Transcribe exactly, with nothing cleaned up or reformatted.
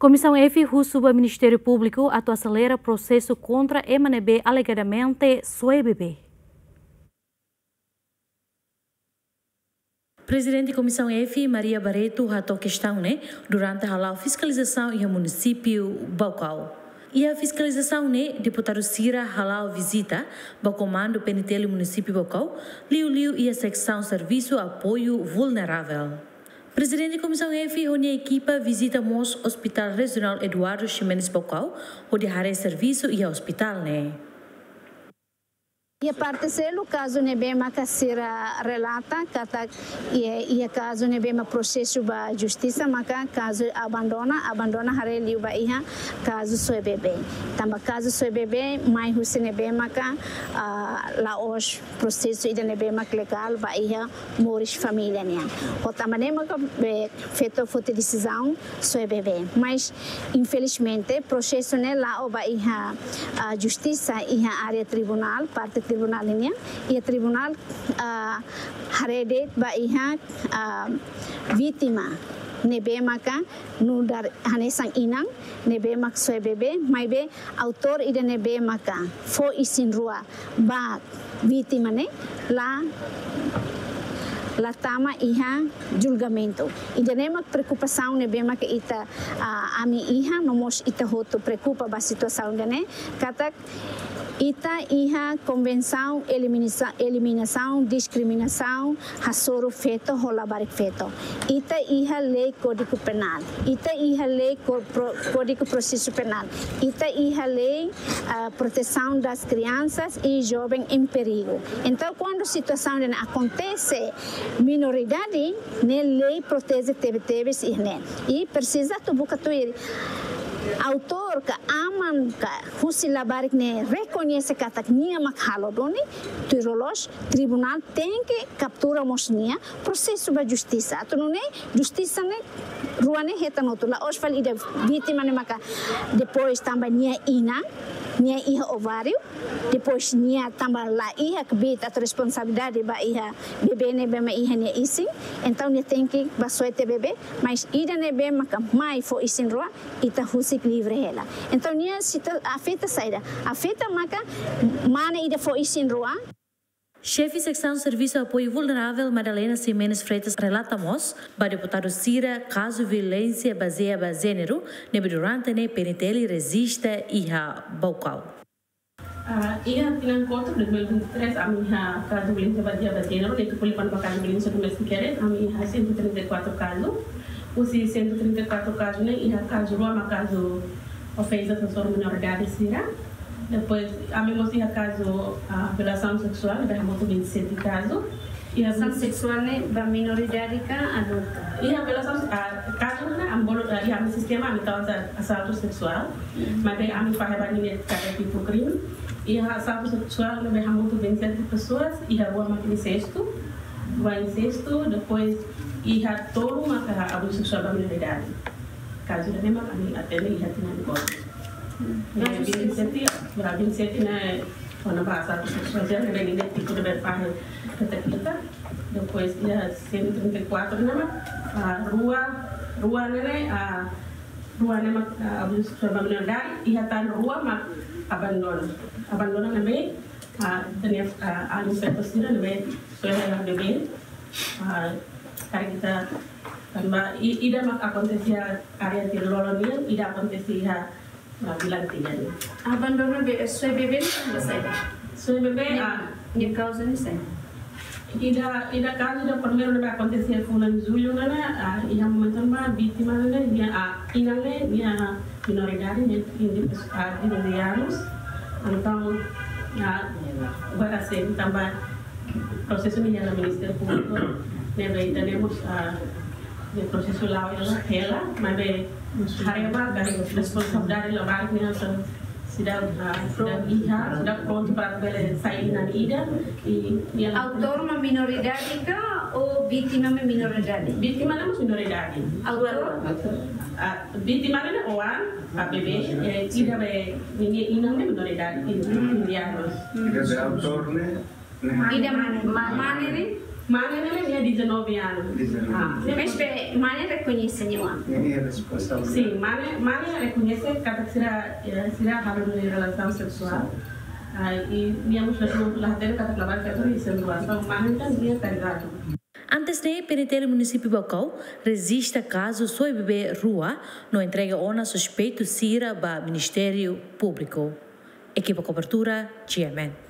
Komisaun F husu ba Ministériu Públiku atu aselera prosesu kontra ema ne'ebé alegadamente soe bebé. Prezidente Komisaun F, Maria Barreto, hato'o kestaun ne'e durante hala'o fiskalizasaun iha munisípiu Baucau. Iha fiskalizasaun ne'e, deputadu sira hala'o vizita ba Komandu P N T L Munisípiu Baucau, liuliu iha Seksaun Servisu Apoiu Vulneravel. Prezidente Komisaun F ho nia ekipa vizita mós Hospital Rejionál Eduardo Ximenes Baucau, hodi haree servisu iha ospitál ne'e. Iha parte seluk, kazu ne'ebé maka sira relata katak iha, iha kazu ne'ebé mak prosesu ba justisa, maka kazu abandona, abandona haree liu ba iha kazu soe bebé. Tanba kazu soe bebé mai husi ne'ebé maka, ah, la'ós prosesu ida ne'ebé mak legál ba iha moris família nian. Ho tanba ne'e maka be feto foti desizaun soe bebé. Mas, infelizmente, prosesu ne'e la'o ba iha, ah, justisa iha área tribunál, parte tribunál nian. Iha tribunál, ah, haree de'it ba iha, ah, vítima ne'ebé maka nu'udar hanesan inan ne'ebé mak soe bebé, maibé autór ida ne'ebé maka fó isin-rua ba vítima ne'e la, la tama iha julgamentu. Ida-ne'e mak preokupasaun ne'ebé maka ita, ah, ami iha, no mós ita hotu preokupa ba situasaun ida-ne'e, katak ita iha Konvensaun Eliminasa-, Eliminasaun Diskriminasaun Hasoru Feto ho Labarik Feto. Ita iha lei Kódigu Penál. Ita iha lei ko-, pro-, Kódigu Prosesu Penál. Ita iha lei, ah, Protesaun das Kriansas e Joven em Perigu. Entaun, kuandu situasaun ne'e akontese minoridade, ne'e lei proteje tebetebes iha ne'e. I presiza atu buka tuir autór ka aman ka husi labarik ne'e rekoñese katak nia mak halo duni, tuir loloos, tribunál tenke kaptura mós nia, prosesu ba justisa. Atu nune'e justisa ne'e rua ne'e hetan hotu, la'ós fali ida vítima ne'e maka depois tanba nia inan, nia iha ováriu, depois nia tanba la iha kbiit atu responsabilidade ba iha bebé ne'ebé mak iha nia isin, entaun nia tenke ba soe tiha bebé, mas ida ne'ebé maka mai fó isin-rua, ita husik livre hela. Entaun nia sita-, afeta saida? Afeta maka mane ida fó isin-rua. Xefe Seksaun Servisu Apoiu Vulneravel, Madalena Ximenes Freitas, relata mós ba deputadu sira kazu violénsia bazeia ba jéneru ne'ebé durante ne'e P N T L rejista iha Baucau. Ah, iha tinan kotuk dois mil e vinte e três, ami iha kazu violénsia bazeia ba jéneru, ne'e tuku liu ba kazu violénsia doméstika ne'e, ami iha cento e trinta e quatro kazu. Husi cento e trinta e quatro kazu ne'e, iha kazu rua mak kazu ofensa hasoru minoridade sira. Depois, ami mós iha kazu, ah, violasaun seksuál, ne'ebé hamutuk vinte e sete kazu. Iha violasaun seksuál ne'e ba minoridade ka adultu? Iha violasaun, ah, kazu ne'e ami bolu, ah, iha ami sistema ami tau asa-, asaltu seksuál. Hmm. Maibé ami fahe ba ninia kada tipu krime. Iha asaltu seksuál ne'ebé hamutuk vinte e sete pessoas, iha rua mak insestu, rua insestu, depois iha tolu maka abuzu seksuál ba minoridade. Kazu ne'e mak ami atende iha tinan kotuk. Hmm. Eh, vinte e sete, ba vinte e sete ne'e, kona-ba asaltu seksuál, ne'ebé ninia tipu ne'ebé fahe keta-keta. Depois iha cento e trinta e quatro ne'e mak, ah, rua, rua ne'e, ah, rua ne'e mak, ah, abuzu seksuál ba minoridade, iha tan rua mak abandona. Abandona ne'ebé, ah, tenia, ah, alin feto sira ne'ebé soe hela bebé, ah, karik ita tanba i-, ida mak akontese iha área Tirololo nian, ida akontese iha, ah, Vilantiga nian. Abandona be-, soe bebé ne'e tanba saida? Soe bebé, ah, nia kauza ne'e saida? Ida, ida kazu ida primeiru ne'ebé akontese fulan Jullu ne'e, ah, iha momentu ne'ebá vítima ne'e, nia, ah, inan ne'e, nia minoridade, nia, nia, ah, vinte anos. Entaun, ah, agora sim, tanba prosesu ne'e iha Ministériu Públiku, ne'ebé ita-nia mós, ah, nia prosesu la'o hela, hela, maibé haree ba, karik responsabilidade labarik ne'e hanesan seidauk, ah, seidauk iha, seidauk prontu para bele sai inan ida, i, i autór mak minoridade ka ou vítima mak minoridade? Vítima ne'e mós minoridade. Autór? Ah, vítima ne'e oan, ah, bebé, eh, ida be, ninia inan ne'e minoridade, in-, indianus. Ida be autór ne'e? Ida mane ne'e? Mane ne'e nia dezanove anos. Dezanove. Ah, ne'e Mas be, mane rekoñese nia oan? Ne'e nia responsavel. Sim, mane, mane rekoñese katak sira, eh, sira halo nia relasaun seksuál. Ah, i nia mós la hatene katak labarik feto iha sira rua. Entaun mane entaun nia karidadu. Antes ne'e, P N T L Munisípiu Baucau rejista kazu soe bebé rua no entrega ona suspeitu sira ba Ministériu Públiku. Ekipa kobertura, G M N.